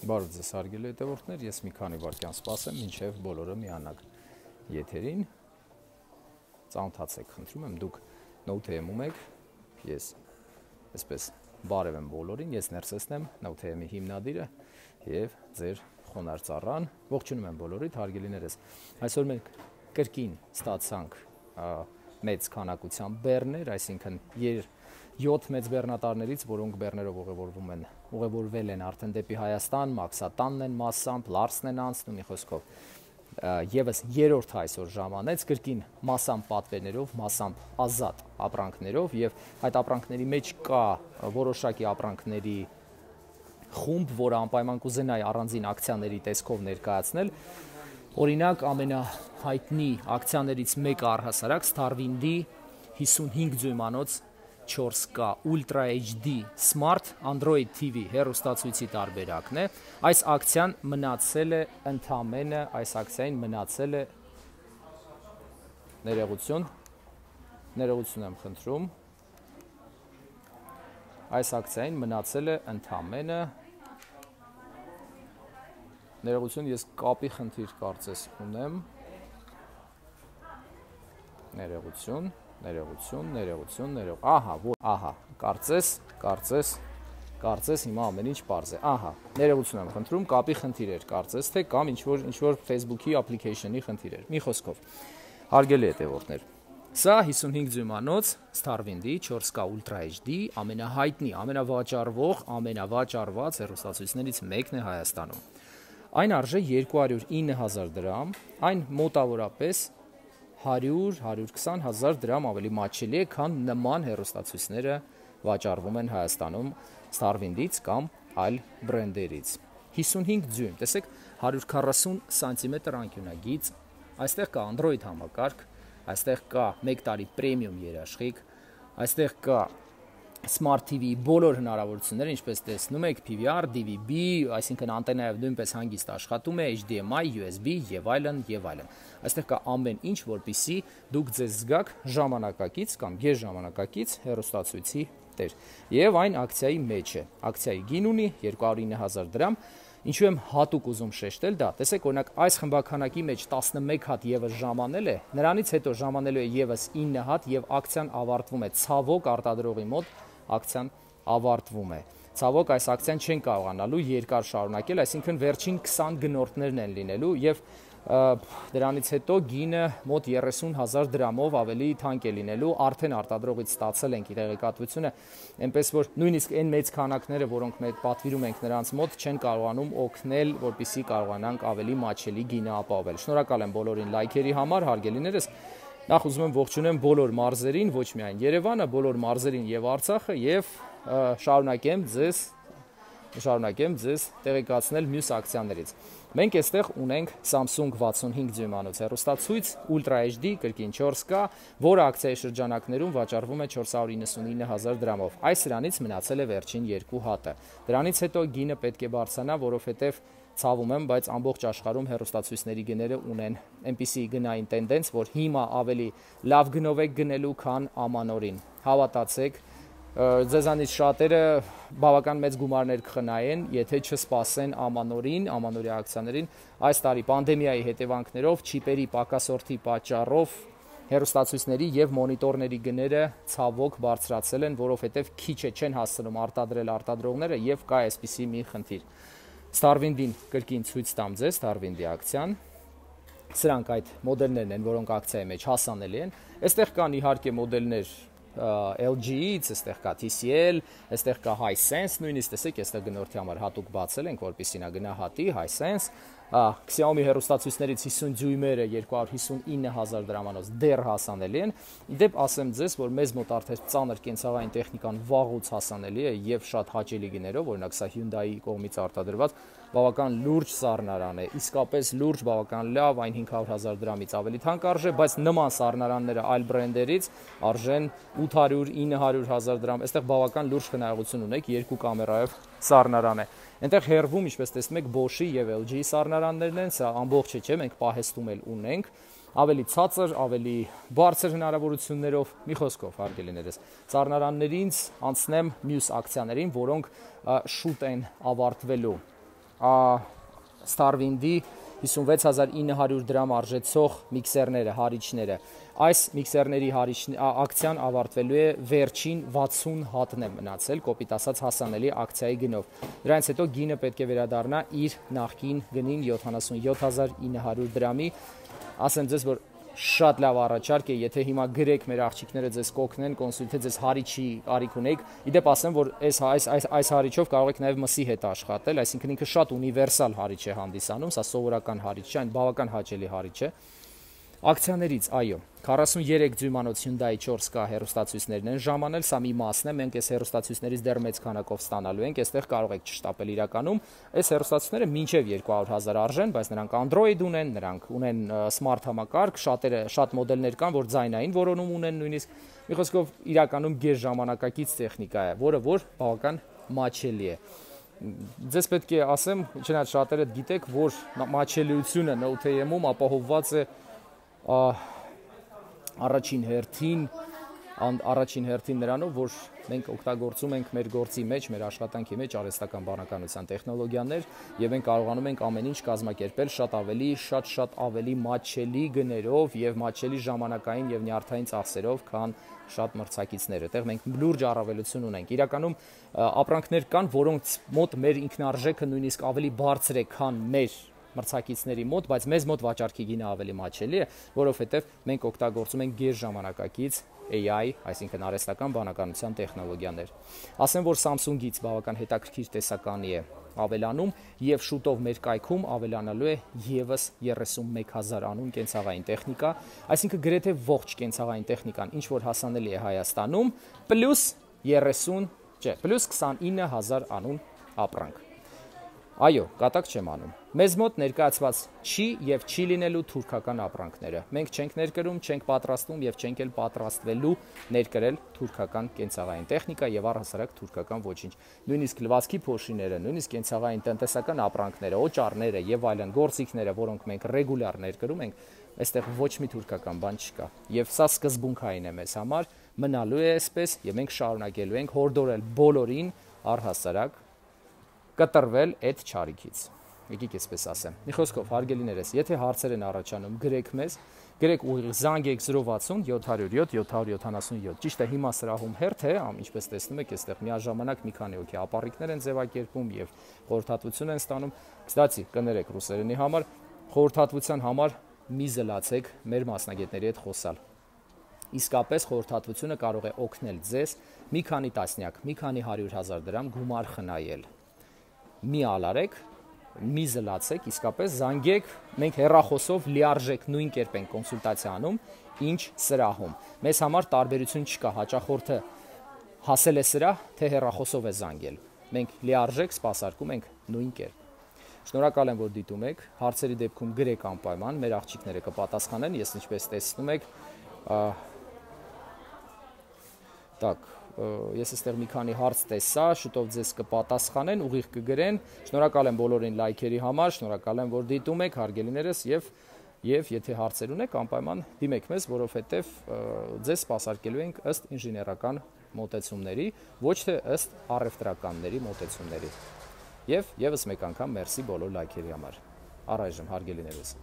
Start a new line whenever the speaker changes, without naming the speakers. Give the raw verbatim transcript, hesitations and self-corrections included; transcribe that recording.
Բարև ձեզ հարգելի հետևորդներ, ես մի քանի վայրկյան սպասեմ, մինչև բոլորը միանաք եթերին։ Ծանոթացեք, խնդրում եմ, դուք Node.am-ում եք, ես այսպես բարև եմ բոլորին, ես Ներսեսն եմ, Node.am-ի հիմնադիրը եւ ձեր խոնարհ ծառան։ Ողջունում եմ բոլորիդ, հարգելիներս։ Այսօր մենք կրկին ստացանք մեծ քանակությամբ բեռներ, այսինքն յոթ մեծ բեռնատարներից, որոնք բեռներով ուղևորվում են, ուղևորվել են արդեն դեպի Հայաստան, Մաքսատանն են massամբ, Լարսն են անցնում, մի խոսքով։ Եվս երրորդ այսօր ժամանեց կրկին massամբ պատվերներով, massամբ ազատ ապրանքներով եւ այդ ապրանքների մեջ կա որոշակի ապրանքների խումբ, որը անպայման կուզենայի առանձին ակցիաների տեսքով ներկայացնել։ Օրինակ ամենահայտնի ակցիաներից մեկը առհասարակ Starwind-ի հիսունհինգ ձույմանոց չորս K Ultra H D Smart Android T V հեռուստացույցի տարբերակն է։ Այս ակցիան մնացել է ընդամենը, այս ակցիային մնացել է ներողություն, ներողություն եմ խնդրում։ Այս ակցիային մնացել է ընդամենը ներողություն, ես կապի խնդիր կարծես ունեմ։ Ներողություն, ներողություն, ներողություն, ներող։ Ահա, ահա, կարծես, կարծես, կարծես հիմա ամեն ինչ պարզ է։ Ահա, ներողություն եմ խնդրում, կապի խնդիր էր կարծես, թե կամ ինչ-որ ինչ-որ Facebook-ի application-ի խնդիր էր։ Մի խոսքով։ Հարգելի հետևորդներ, սա հիսունհինգ ձույմանոց Starwind-ի չորս K Ultra H D ամենահայտնի, ամենավաճառվող, ամենավաճառված հեռուստացույցներից մեկն է Հայաստանում։ Այն արժե երկու հարյուր ինը հազար դրամ, այն մոտավորապես հարյուր հարյուր քսան հազար դրամ ավելի մատչելի է, քան նման հեռուստացույցները վաճառվում են Հայաստանում Starwind-ից կամ այլ բրենդերից։ հիսունհինգ ձույն, տեսեք, հարյուր քառասուն սանտիմետր անկյունագիծ, այստեղ կա Android համակարգ, այստեղ կա մեկ տարի պրեմիում երաշխիք, այստեղ կա Smart T V բոլոր հնարավորությունները, ինչպես տեսնում եք, P V R, D V B, այսինքն անտենայով նույնպես հանգիստ աշխատում է, H D M I, U S B եւ այլն եւ այլն։ Այստեղ կա ամեն ինչ, որպեսզի դուք ձեզ զգաք ժամանակակից կամ գերժամանակակից հեռուստացույցի տեր։ Եվ այն ակցիայի մեջ է։ Ակցիայի գին ունի երկու հարյուր ինը հազար դրամ։ Ինչու եմ հատուկ ուզում շեշտել դա, տեսեք, օրինակ այս խմբականակի մեջ տասնմեկ հատ եւս ժամանել է, նրանից հետո ժամանելու է եւս ինը հատ եւ ակցիան ավարտվում է։ Ցավոք արտադրողի մոտ ակցիան ավարտվում է։ Ցավոք այս ակցիան չեն կարողանալու երկար շարունակել, այսինքն վերջին քսան գնորդներն են լինելու եւ դրանից հետո գինը մոտ երեսուն հազար դրամով ավելի թանկ է լինելու, արդեն արտադրողից ստացել ենք տեղեկատվությունը, այնպես որ նույնիսկ այն մեծ քանակները, որոնք մենք պատվիրում ենք նրանց մոտ, չեն կարողանում օգնել, որպեսզի կարողանանք ավելի մատչելի գինը ապահովել։ Շնորհակալ եմ բոլորին լայքերի համար, հարգելիներս։ Նախ ուզում եմ ողջունեմ բոլոր մարզերին, ոչ միայն Երևանը, բոլոր մարզերին եւ Արցախը եւ շարունակեմ ձեզ շարունակեմ ձեզ տեղեկացնել մյուս ակցիաներից։ Մենք այստեղ ունենք Samsung վաթսունհինգ ձույմանոց հեռուստացույց Ultra H D կրկին չորս K, որը ակցիայի շրջանակներում վաճառվում է չորս հարյուր իննսունինը հազար դրամով։ Այս սրանից մնացել է վերջին երկու հատը։ Դրանից հետո գինը պետք է բարձրանա, որովհետեւ ցավում եմ, բայց ամբողջ աշխարհում հեռուստացույցների գները ունեն այնպիսի գնային տենդենց, որ հիմա ավելի լավ գնով եք գնելու, քան ամանորին։ Հավատացեք, ձեզանից շատերը բավական մեծ գումարներ կխնայեն, եթե չսպասեն ամանորին, ամանորյա ակցիաներին։ Այս տարի պանդեմիայի հետևանքներով, չիպերի պակասորթի պատճառով հեռուստացույցների եւ մոնիտորների գները ցավոք բարձրացել են, որովհետեւ քիչ է չեն հասցնում արտադրել արտադրողները եւ կա այսպիսի մի խնդիր։ Starwind-ին կրկին ցույց տամ ձեզ Starwind-ի ակցիան։ Սրանք այդ մոդելներն են, որոնք ակցիայի մեջ հասանելի են։ Այստեղ կան իհարկե մոդելներ L G-ից, այստեղ կա T C L, այստեղ կա Hisense, նույնիսկ տեսեք, այստեղ գնորդի համար հատուկ բացել ենք, որպեսզի նա գնահատի Hisense, Xiaomi հեռուստացույցներից հիսուն դյույմերը երկու հարյուր հիսուն ինը հազար դրամանոց դեռ հասանելի են։ Իդեպ ասեմ ձեզ, որ մեզ մոտ արդեն ծանր կենցաղային տեխնիկան վաղուց հասանելի է եւ շատ հաճելի գներով, օրինակ սա Hyundai-ի կողմից արտադրված բավական լուրջ սառնարան է, իսկապես լուրջ, բավական լավ, այն հինգ հարյուր հազար դրամից ավելի թանկ արժե, բայց նման սառնարանները այլ բրենդերից արժեն ութ հարյուր ինը հարյուր հազար դրամ։ Այստեղ բավական լուրջ խնայողություն ունեք, երկու կամերայով սառնարան է։ Այնտեղ հեռվում, ինչպես տեսնում եք, Bosch-ի եւ L G-ի սառնարաններն են, սա ամբողջը չէ, մենք պահեստում էլ ունենք, ավելի ցածր, ավելի բարձր հնարավորություններով, մի խոսքով, հարգելիներս, սառնարաններից անցնեմ մյուս ակցիաներին, որոնք շուտ են ավարտվելու։ Starwind-ի հիսունվեց հազար ինը հարյուր դրամ արժեցող միքսերները, հարիչները։ Այս միքսերների ակցիան ավարտվելու է վերջին վաթսուն հատն է մնացել, կոպիտ ասած հասանելի ակցիայի գնով։ Դրանից հետո գինը պետք է վերադառնա իր նախկին գնին յոթանասունյոթ հազար ինը հարյուր դրամի։ Ասեմ ձեզ, որ շատ լավ առաջարկ է, եթե հիմա գրեք մեր աղջիկները ձեզ կօգնեն, կոնսուլտե ձեզ հարիչի կարիք ունեք։ Իդեպ ասեմ, որ այս այս այս այս հարիչով կարող եք նաև մսի հետ աշխատել, այսինքն ինքը շատ ունիվերսալ հարիչ է հանդիսանում, սա սովորական հարիչ չէ, այն բավական հաճելի հարիչ է։ Ակցիաներից, այո, քառասունյերեք դյույմանոց Hyundai չորս K հեռուստացույցներն են ժամանել, սա մի մասն է, մենք այս հեռուստացույցներից դեռ մեծ քանակով ստանալու ենք, այստեղ կարող եք չշտապել իրականում, այս հեռուստացույցները մինչև երկու հարյուր հազար արժեն, բայց նրանք Android ունեն, նրանք ունեն smart համակարգ, շատերը շատ մոդելներ կան, որ ձայնային որոնում ունեն նույնիսկ, մի խոսքով իրականում գեր ժամանակակից տեխնիկա է, որը որ բավական մաչելի է։ Ձեզ պետք է ասեմ, չնայած շատերը գիտեք, որ մաչելիությունը Note A M-ում ապահովված է առաջին հերթին առաջին հերթին նրանով, որ մենք օգտագործում ենք մեր գործի մեջ, մեր աշխատանքի մեջ արհեստական բանականության տեխնոլոգիաներ եւ մենք կարողանում ենք ամեն ինչ կազմակերպել շատ ավելի, շատ-շատ ավելի մատչելի գներով եւ մատչելի ժամանակային եւ նյարդային ծախսերով, քան շատ մրցակիցները։ Այդտեղ մենք լուրջ առավելություն ունենք։ Իրականում ապրանքներ կան, որոնց մոտ մեր ինքնարժեքը նույնիսկ ավելի բարձր է, քան մեր մրցակիցների մոտ, բայց մեզ մոտ վաճառքի գինը ավելի մաչելի է, որովհետև մենք օգտագործում ենք գեր ժամանակակից A I, այսինքն արհեստական բանականության տեխնոլոգիաներ։ Ասեմ, որ Samsung-ից բավական հետաքրքիր տեսականի է ավելանում եւ շուտով մեր կայքում ավելանալու է եւս երեսունմեկ հազար անուն կենցաղային տեխնիկա, այսինքն գրեթե ողջ կենցաղային տեխնիկան, ինչ որ հասանելի է Հայաստանում, պլյուս երեսուն, չէ, պլյուս քսանինը հազար անուն ապրանք։ Այո, կատակ չեմ անում։ Մեզ մոտ ներկայացված չի եւ չի լինելու թուրքական ապրանքները։ Մենք չենք ներկրում, չենք պատրաստում եւ չենք էլ պատրաստվելու ներկրել թուրքական կենցաղային տեխնիկա եւ առհասարակ թուրքական ոչինչ։ Նույնիսկ լվացքի փոշիները, նույնիսկ կենցաղային տնտեսական ապրանքները, օճառները եւ այլն գործիքները, որոնք մենք ռեգուլյար ներկրում ենք, այստեղ ոչ մի թուրքական բան չկա։ Եվ սա սկզբունքային է մեզ համար, մնալու է այսպես եւ մենք շարունակելու ենք հորդորել բոլորին առհասարակ կտրվել այդ չարիքից։ Եկեք այսպես ասեմ։ Մի խոսքով, հարգելիներս, եթե հարցեր են առաջանում, գրեք մեզ, գրեք ուղիղ զանգեք զրո վաթսուն յոթ հարյուր յոթ յոթ հարյուր յոթանասունյոթ։ Ճիշտ է, հիմա սրահում հերթ է, ինչպես տեսնում եք, այստեղ միաժամանակ մի քանի հոգի ապառիկներ են ձևակերպում եւ խորհրդատվություն են ստանում։ Կստացի, կներեք ռուսերենի համար, խորհրդատվության համար մի զլացեք մեր մասնագետների հետ խոսալ։ Իսկապես խորհրդատվությունը կարող է օգնել ձեզ մի քանի տասնյակ, մի քանի հարյուր հազար դրամ գումար խնայել։ Մի ալարեք, մի զլացեք, իսկապես զանգեք, մենք հեռախոսով լիարժեք նույն կերպ ենք կոնսուլտացիա անում, ինչ սրահում։ Մեզ համար տարբերություն չկա, հաճախորդը հասել է սրահ, թե հեռախոսով է զանգել։ Մենք լիարժեք սպասարկում ենք նույն կերպ։ Շնորհակալ եմ, որ դիտում եք, հարցերի դեպքում գրեք անպայման, մեր աղջիկները կպատասխանեն, ես ինչպես տեսնում եք, տակ, ես այստեղ մի քանի հարց տեսա, շուտով ձեզ կպատասխանեն, ուղիղ կգրեն, շնորհակալ եմ բոլորին լայքերի համար, շնորհակալ եմ, որ դիտում եք, հարգելիներս, եւ եւ եթե հարցեր ունեք, անպայման դիմեք մեզ, որովհետեւ ձեզ սպասարկելու ենք ըստ ինժեներական մոտեցումների, ոչ թե ըստ առևտրականների մոտեցումների։ Եվ եւս մեկ անգամ մերսի բոլոր լայքերի համար։ Առայժմ հարգելիներս։